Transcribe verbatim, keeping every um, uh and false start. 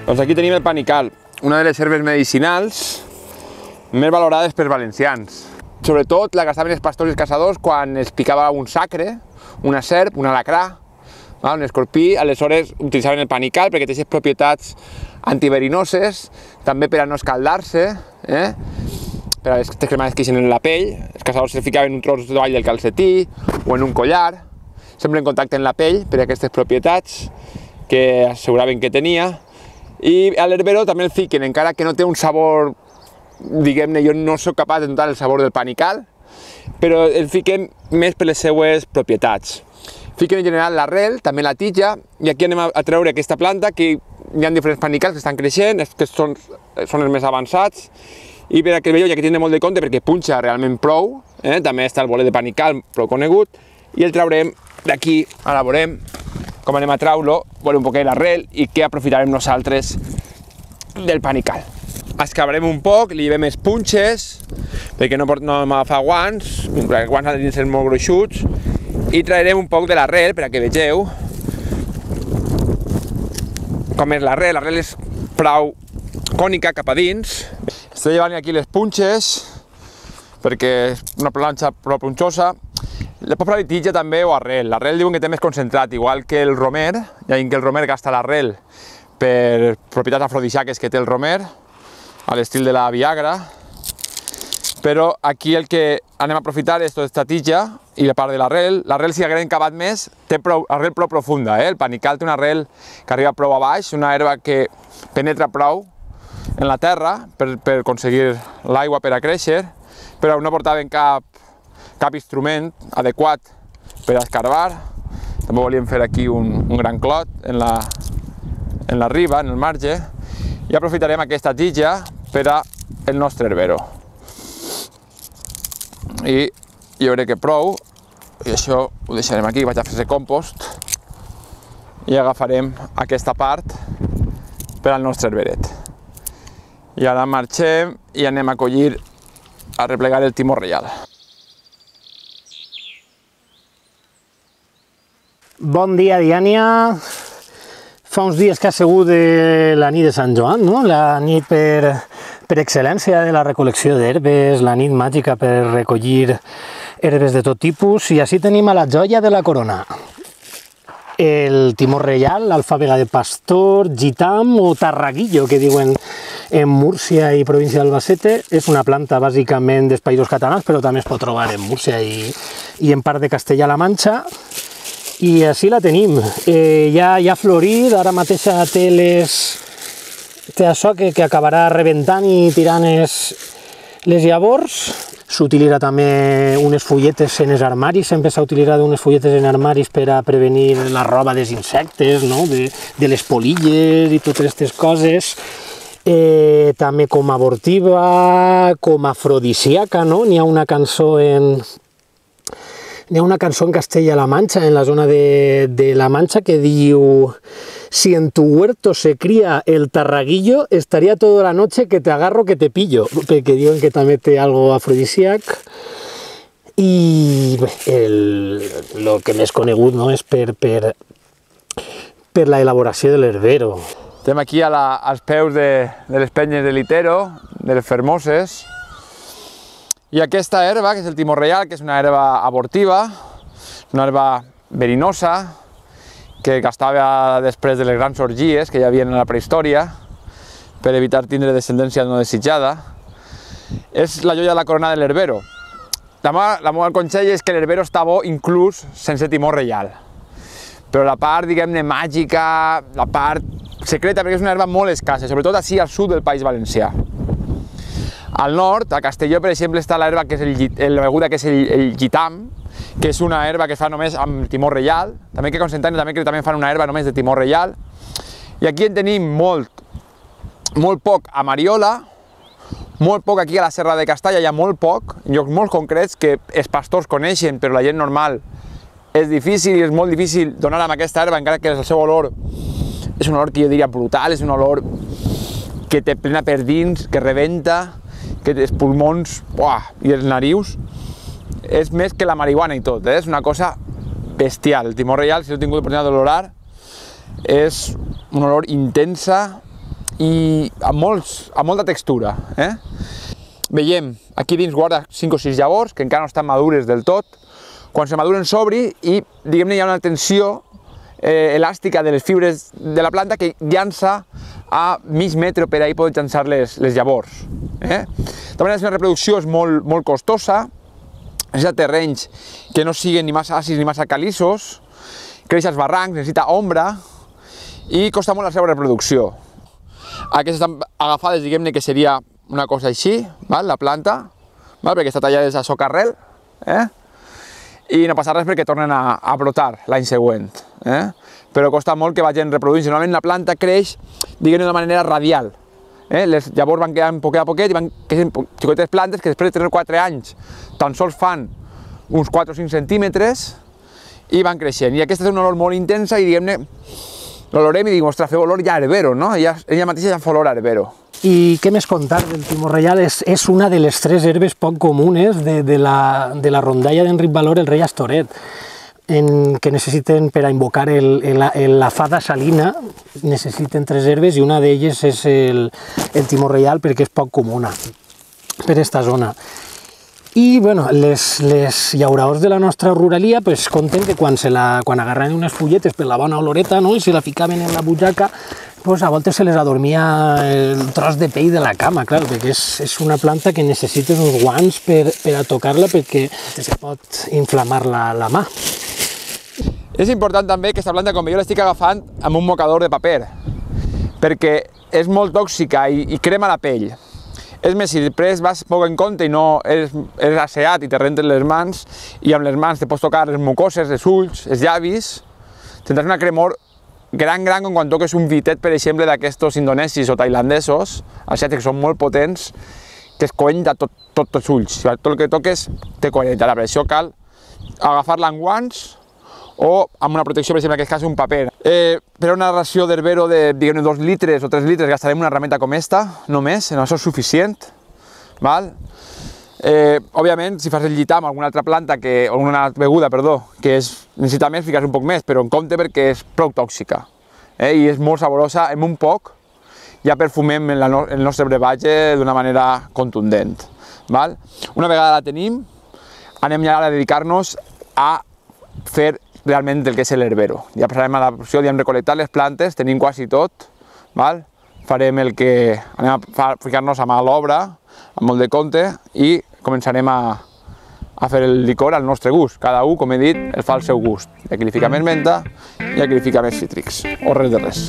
Doncs aquí tenim el panical, una de les herbes medicinals més valorades pels valencians. Sobretot la gastaven els pastors i els caçadors quan es picava un sacre, una serp, un alacrà, un escorpí, aleshores utilitzaven el panical perquè té aquestes propietats antiverinoses, també per a no escaldar-se, eh? Per a les cremades que eixen en la pell. Els caçadors se ficaven un tros d'oll del calcetí o en un collar, sempre en contacte amb la pell per a aquestes propietats que asseguraven que tenia. I a l'herbero també el fiquen, encara que no té un sabor, diguem-ne, jo no soc capaç de notar el sabor del panical, però el fiquen més per les seues propietats. Fiquen en general l'arrel, també la tija, i aquí anem a treure aquesta planta, que hi ha diferents panicals que estan creixent, que són, són els més avançats, i per a que el veieu hi ha que tindre molt de compte perquè punxa realment prou, eh? També està el bolet de panical prou conegut, i el traurem d'aquí, ara veurem com anem a treure-lo, veure un poquet l'arrel i què aprofitarem nosaltres del panical. Escavarem un poc, li llevem els punxes, perquè no, no hem agafat guants, perquè els guants han de ser molt gruixuts, i traurem un poc de l'arrel per a que vegeu com és l'arrel. L'arrel és prou cònica cap a dins. Estic llevant aquí les punxes perquè és una planxa prou punxosa. La pot posar tija també o arrel. L'arrel diuen que té més concentrat, igual que el romer, ja que el romer gasta l'arrel per propietats afrodisíaques que té el romer, a l'estil de la Viagra, però aquí el que anem a aprofitar és tota aquesta tija i la part de l'arrel. L'arrel, si haguem cavat més, té prou, arrel prou profunda, eh? El panical té una arrel que arriba prou a baix, una herba que penetra prou en la terra per, per aconseguir l'aigua per a créixer, però no portaven cap, cap instrument adequat per a escarbar. També volíem fer aquí un, un gran clot en la, en la riba, en el marge, i aprofitarem aquesta tija per a el nostre herbero. I jo crec que prou, i això ho deixarem aquí, vaig a fer-se compost, i agafarem aquesta part per al nostre herberet. I ara marxem i anem a collir, a replegar el timó reial. Bon dia, Diània. Fa uns dies que ha sigut la nit de Sant Joan, no? La nit per, per excel·lència de la recol·lecció d'herbes, la nit màgica per recollir herbes de tot tipus, i així tenim a la joia de la corona. El timó reial, l'alfàbega de pastor, gitam o tarraguillo, que diuen en Múrcia i província d'Albacete. És una planta bàsicament dels Països Catalans, però també es pot trobar en Múrcia i, i en part de Castella-La Manxa. I així la tenim. Eh, ja, ja ha florit, ara mateix té, les, té això que, que acabarà rebentant i tirant les, les llavors. S'utilitza també unes fulletes en els armaris, sempre s'ha utilitzat unes fulletes en armaris per a prevenir la roba dels insectes, no? de, de les polilles i totes aquestes coses. Eh, també com a abortiva, com a afrodisíaca, no? N'hi ha una cançó en... N'hi ha una cançó en Castella-La Mancha, en la zona de, de La Mancha, que diu: si en tu huerto se cría el tarraguillo, estaría toda la noche que te agarro que te pillo, perquè diuen que també té algo afrodisíac. I bé, el, el que més conegut, no, és per, per, per la elaboració de l'herbero. Estem aquí a la, als peus de, de les penyes de Litero, de les Fermoses. I aquesta herba, que és el timó reial, que és una herba abortiva, una herba verinosa, que gastava després de les grans orgies que hi havia en la prehistòria, per evitar tindre descendència no desitjada, és la joia de la corona de l'herbero. La meva consell és que l'herbero està bo inclús sense timó reial. Però la part, diguem-ne, màgica, la part secreta, perquè és una herba molt escassa, sobretot així al sud del País Valencià. Al nord, a Castelló, per exemple, està l'herba que és el, la beguda que és el, el gitam, que és una herba que es fa només amb timó reial, també que Constantino també que també fan una herba només de timó reial. I aquí en tenim molt, molt poc a Mariola, molt poc aquí a la Serra de Castalla, hi ha molt poc, en llocs molt concrets que els pastors coneixen, però la gent normal és difícil i és molt difícil donar amb aquesta herba, encara que el seu olor és un olor que jo diria brutal, és un olor que te plena per dins, que rebenta, que els pulmons uah, i els narius, és més que la marihuana i tot, eh? És una cosa bestial. El timó reial, si no he tingut l'oportunitat d'olorar, és una olor intensa i amb, molts, amb molta textura. Eh? Veiem, aquí dins guarda cinc o sis llavors, que encara no estan madures del tot. Quan se maduren s'obri i, diguem-ne, hi ha una tensió eh, elàstica de les fibres de la planta que llança a mig metre per ahí poden llançar les, les llavors. Eh? De manera que la reproducció és molt, molt costosa, necessita terrenys que no siguin ni massa àcids ni massa calissos, creix als barrancs, necessita ombra i costa molt la seva reproducció. Aquestes estan agafades, diguem-ne que seria una cosa així, val? La planta, val? Perquè està tallada a socarrel, eh? I no passa res perquè tornen a, a brotar l'any següent. Eh? Però costa molt que vagin reproduint. Normalment la planta creix, diguem-ne, d'una manera radial. Eh? Les llavors van quedant poquet a poquet i van creixent xicotetes plantes que després de tenir quatre anys tan sols fan uns quatre o cinc centímetres i van creixent. I aquesta és una olor molt intensa i, diguem-ne, l'olorem i dic, ostres, feu olor ja a herbero, no? Ella, ella mateixa ja fa olor a herbero. I què més contar del timor reial? És, és una de les tres herbes poc comunes de, de, la, de la rondalla d'Enric Valor, el rei Astoret, en, que necessiten per a invocar el, el, el, la fada salina, necessiten tres herbes i una d'elles és el, el timor reial perquè és poc comuna per aquesta zona. I bueno, les, les llauraors de la nostra ruralia pues, conten que quan, se la, quan agarraven unes fulletes per la bona oloreta, no? I se la ficaven en la butxaca, pues, a voltes se les adormia el tros de pell de la cama, clar, perquè és, és una planta que necessites uns guants per, per a tocar-la perquè se pot inflamar la, la mà. És important també que aquesta planta, com jo l'estic agafant amb un mocador de paper, perquè és molt tòxica i, i crema la pell. És més, si després vas poc en compte i no eres, eres asseat i te rentes les mans i amb les mans te pots tocar les mucoses, els ulls, els llavis, tindràs una cremor gran, gran com quan toques un vitet, per exemple, d'aquestos indonesis o tailandesos, asiàtics que són molt potents, que es coenta tot, tot els ulls. Tot el que toques te coentarà, per això cal agafar-la amb guants o amb una protecció, per exemple, en aquest cas un paper. Eh, per una ració d'herbero de, diguem-ne, dos litres o tres litres gastarem una herramienta com esta, només, en això és suficient. Val? Eh, òbviament, si fas el llitar amb alguna altra planta, que, o una beguda, perdó, que és, necessita més, fiques un poc més, però en compte perquè és prou tòxica. Eh, I és molt saborosa, amb un poc ja perfumem el, no, el nostre brevatge d'una manera contundent. Val? Una vegada la tenim, anem ja a dedicar-nos a fer realment el que és l'herbero. Ja passarem a la opció de recol·lectar les plantes, tenim quasi tot, val? Farem el que anem a ficar-nos a mà a l'obra, amb molt de compte, i començarem a, a fer el licor al nostre gust. Cada un, com he dit, el fa al seu gust. Hi ha qui li fica més menta i hi ha qui li fica més cítrics, o res de res.